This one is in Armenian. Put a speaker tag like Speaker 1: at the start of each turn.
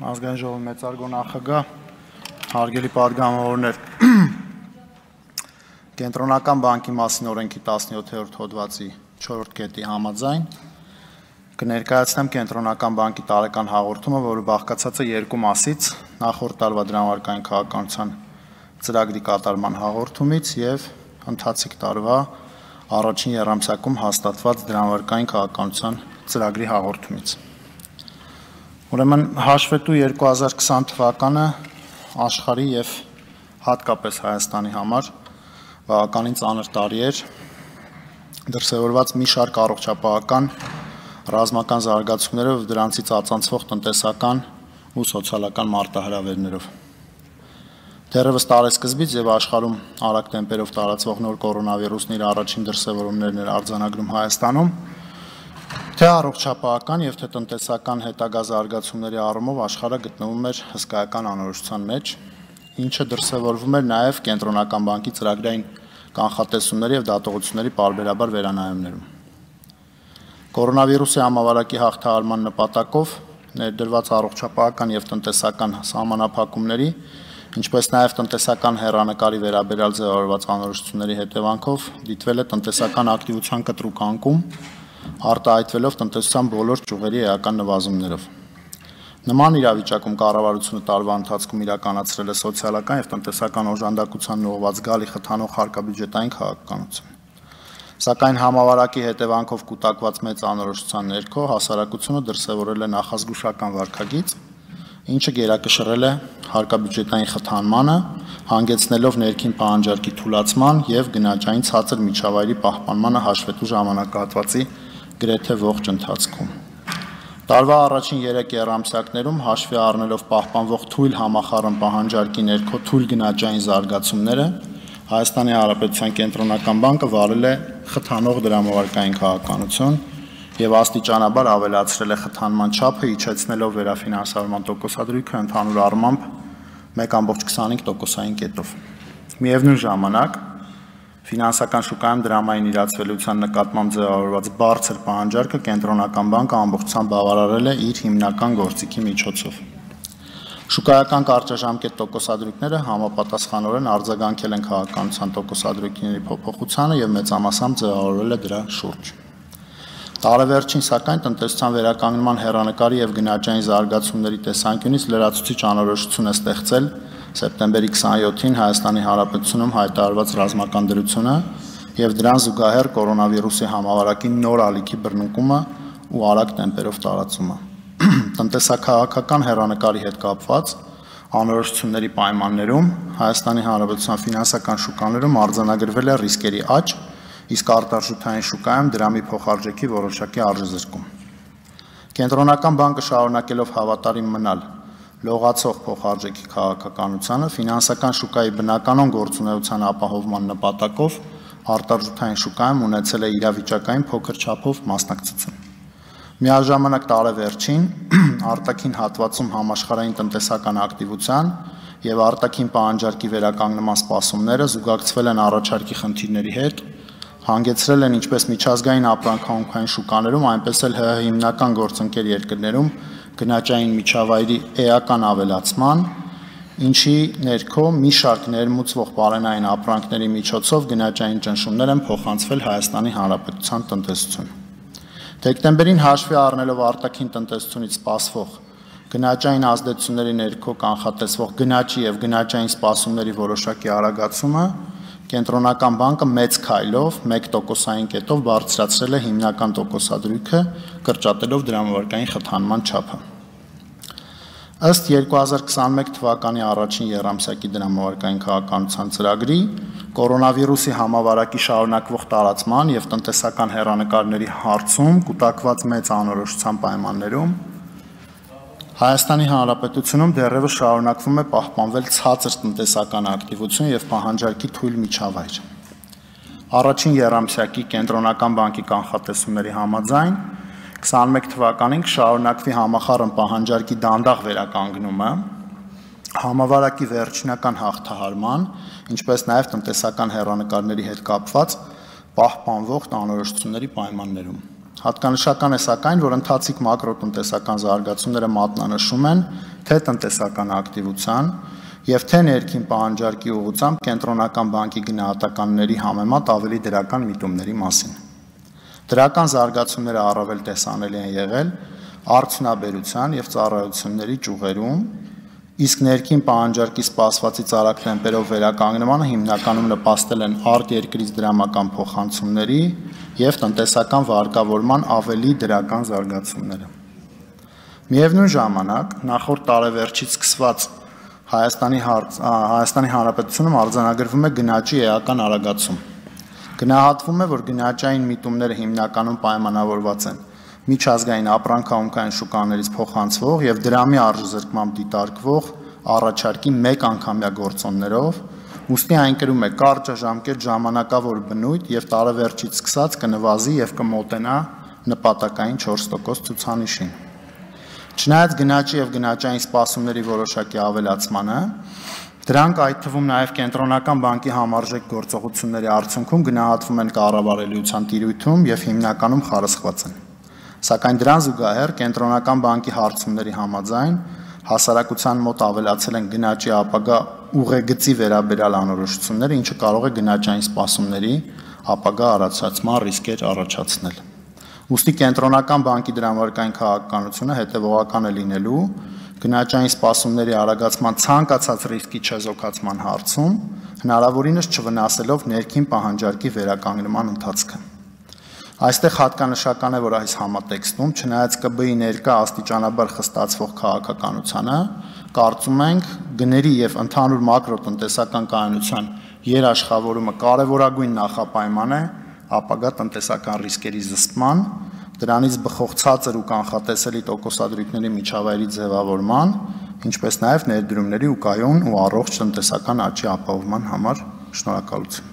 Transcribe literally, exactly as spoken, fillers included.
Speaker 1: Ազգային ժողովի մեծարգո նախագահ, հարգելի պատգամավորներ, Կենտրոնական բանկի մասին օրենքի տասնյոթերորդ հոդվածի չորրորդ կետի համաձայն կներկայացնեմ Կենտրոնական բանկի տարեկան հաղորդումը, որը բաղկացած է երկու մասից՝ նախորդ տարվա դրամարկային քաղաքականության ծրագրի կատարման հաղորդումից եւ ընթացիկ տարվա առաջին եռամսյակում հաստատված դրամարկային քաղաքականության ծրագրի հաղորդումից։ Ուրեմն հաշվետու երկու հազար քսան թվականը աշխարհի եւ հատկապես Հայաստանի համար բավականին ծանր տարի էր, դրսևորված մի շարք առողջապահական ռազմական զարգացումներով եւ դրանցից ածանցվող տնտեսական ու սոցիալական մարտահրավերներով։ Դեռևս տարեսկզբից եւ աշխարհում արագ տեմպերով տարածվող նոր կորոնավիրուսն իր առաջին դրսևորումներն էր արձանագրում Հայաստանում, թե առողջապահական եւ թե տնտեսական հետագա զարգացումների առումով աշխարհը գտնվում էր հսկայական անորոշության մեջ, ինչը դրսևորվում էր նաեւ Կենտրոնական բանկի ծրագրային կանխատեսումների եւ դատողությունների պարբերաբար վերանայումներում։ Կորոնավիրուսի համավարակի հաղթահարման նպատակով ներդրված առողջապահական եւ տնտեսական սահմանափակումների, ինչպես նաեւ տնտեսական հեռանկարի վերաբերյալ ձևավորված անորոշությունների հետևանքով դիտվել է տնտեսական ակտիվության կտրուկ անկում, արտահայտվելով տնտեսության բոլոր ճյուղերի էական նվազումներով։ Նման իրավիճակում կառավարությունը տարվա ընթացքում իրականացրել է սոցիալական եւ տնտեսական օժանդակության ուղղված գալի խթանող հարկաբյուջետային քաղաքականություն։ Սակայն համավարակի հետևանքով կուտակված մեծ անորոշության ներքո հասարակությունը դրսևորել է նախազգուշական վարքագիծ, ինչը գերակշռել է հարկաբյուջետային խթանմանը, հանգեցնելով ներքին պահանջարկի թուլացման եւ գնաճային ցածր միջավայրի պահպանմանը հաշվետու ժամանակահատվածի գրեթե ողջ ընթացքում։ Տարվա առաջին երեք եռամսյակներում հաշվի առնելով պահպանվող թույլ համախառն պահանջարկի ներքո թույլ գնաճային զարգացումները, Հայաստանի Հանրապետության Կենտրոնական բանկը վարել է խթանող դրամարկային քաղաքականություն եւ աստիճանաբար ավելացրել է խթանման չափը, իջեցնելով վերաֆինանսավորման տոկոսադրույքը ընդհանուր առմամբ մեկ կόμma քսանհինգ տոկոսային կետով։ Միևնույն ժամանակ ֆինանսական շուկայում դրամային իրացվելիության նկատմամբ ձևավորված բարձր պահանջարկը Կենտրոնական բանկը ամբողջությամբ բավարարել է իր հիմնական գործիքի միջոցով։ Շուկայական կարճաժամկետ տոկոսադրույքները համապատասխանորեն արձագանքել են քաղաքականության տոկոսադրույքների փոփոխությանը եւ մեծամասամբ ձևավորվել է դրա շուրջ։ Տարեվերջին սակայն տնտեսության վերականգնման հեռանկարի եւ գնաճային զարգացումների տեսանկյունից լրացուցիչ անորոշություն է ստեղծել սեպտեմբերի քսանյոթին Հայաստանի Հանրապետությունում հայտարարված ռազմական դրությունը եւ դրան զուգահեռ կորոնավիրուսի համավարակի նոր ալիքի բռնկումը ու արագ տեմպերով տարածումը։ Տնտեսական հեռանկարի հետ կապված անորոշությունների պայմաններում Հայաստանի Հանրապետության ֆինանսական շուկաներում արձանագրվել է ռիսկերի աճ, իսկ արտարժութային շուկայում դրամի փոխարժեքի որոշակի արժեզրկում։ Կենտրոնական բանկը շարունակելով հավատարիմ մնալ լողացող փոխարժեքի քաղաքականությանը, ֆինանսական շուկայի բնականon գործունեության ապահովման նպատակով արտարժութային շուկայում ունեցել է իրավիճակային փոքր չափով մասնակցություն։ Միաժամանակ տարեվերջին արտաքին հատվածում համաշխարհային տնտեսական ակտիվության եւ արտաքին պահանջարկի վերականգնման սպասումները զուգակցվել են առաջարկի խնդիրների հետ, հանգեցրել են ինչպես միջազգային ապրանքահանքային շուկաներում, այնպես էլ ՀՀ հիմնական գործընկեր երկրներում գնաճային միջավայրի էական ավելացման, ինչի ներքո մի շարք ներմուծվող բարենային ապրանքների միջոցով գնաճային ճնշումներ են փոխանցվել Հայաստանի Հանրապետության տնտեսություն։ Դեկտեմբերին հաշվի առնելով արտաքին տնտեսությունից սպասվող գնաճային ազդեցությունների ներքո կանխատեսվող գնաճի եւ գնաճային սպասումների որոշակի արագացումը, Կենտրոնական բանկը մեծ քայլով մեկ տոկոսային կետով բարձրացրել է հիմնական տոկոսադրույքը, կրճատելով դրամարկային խթանման չափը։ Ըստ երկու հազար քսանմեկ թվականի առաջին եռամսյակի դրամարկային քաղաքականության ծրագրի, կորոնավիրուսի համավարակի շարունակվող տարածման եւ տնտեսական հեռանկարների հարցում կուտակված մեծ անորոշության պայմաններում Հայաստանի Հանրապետությունում դեռևս շարունակվում է պահպանվել ցածր տնտեսական ակտիվություն եւ պահանջարկի թույլ միջավայր։ Առաջին եռամսյակի Կենտրոնական բանկի կանխատեսումների համաձայն քսանմեկ թվականին կշարունակվի համախառն պահանջարկի դանդաղ վերականգնումը, համավարակի վերջնական հաղթահարման, ինչպես նաեւ տնտեսական հեռանկարների հետ կապված պահպանվող անորոշությունների պայմաններում։ Հատկանշական է սակայն, որ ընթացիկ մակրոտնտեսական զարգացումները մատնանշում են թե տնտեսական ակտիվության եւ թե ներքին պահանջարկի ուղղությամբ կենտրոնական բանկի գնահատականների համեմատ ավելի դրական միտումների մասին։ Դրական զարգացումները առավել տեսանելի են եղել արդյունաբերության եւ ծառայությունների ճյուղերում, իսկ ներքին պահանջարկի սպասվածից արագ տեմպերով վերականգնմանը հիմնականում նպաստել են արտերկրից դրամական փոխանցումների եւ տնտեսական վարկավորման ավելի դրական զարգացումները։ Միևնույն ժամանակ, նախորդ տարեվերջից սկսված Հայաստանի Հայաստանի Հանրապետությունում արձանագրվում է գնաճի էական արագացում։ Գնահատվում է, որ գնաճային միտումները հիմնականում պայմանավորված են միջազգային ապրանքահունքային շուկաներից փոխանցվող եւ դրամի արժեզրկմամբ դիտարկվող առաջարկի մեկ անգամյա գործոններով, ուստի այն կրում է կարճաժամկետ ժամանակավոր բնույթ եւ տարեվերջից սկսած կնվազի եւ կմոտենա նպատակային չորս տոկոս ցուցանիշին։ Չնայած գնաճի եւ գնաճային սպասումների որոշակի ավելացմանը, դրանք այդ թվում նաեւ կենտրոնական բանկի համարժեք գործողությունների արդյունքում գնահատվում են կառավարելիության տիրույթում եւ հիմնականում խարսխված են։ Սակայն դրան զուգահեռ կենտրոնական բանկի հարցումների համաձայն հասարակության մոտ ավելացել են գնաճի ապագա ուղեգծի վերաբերյալ անորոշությունները, ինչը կարող է գնաճային սպասումների ապագա առաջացման ռիսկեր առաջացնել։ Ուստի կենտրոնական բանկի դրամարկային քաղաքականությունը հետևողական է լինելու գնաճային սպասումների արագացման ցանկացած ռիսկի չեզոքացման հարցում, հնարավորինս չվնասելով ներքին պահանջարկի վերականգնման ընթացքը։ Այստեղ հատկանշական է, որ այս համատեքստում, չնայած ԿԲ-ի ներկա աստիճանաբար խստացվող քաղաքականությանը, կարծում ենք գների եւ ընդհանուր մակրոտնտեսական կայունության երաշխավորումը կարևորագույն նախապայման է ապագա տնտեսական ռիսկերի զսպման, դրանից բխող ցածր ու կանխատեսելի տոկոսադրույքների միջավայրի ձևավորման, ինչպես նաև ներդրումների ու կայուն ու առողջ տնտեսական աճի ապահովման համար։ Շնորհակալություն։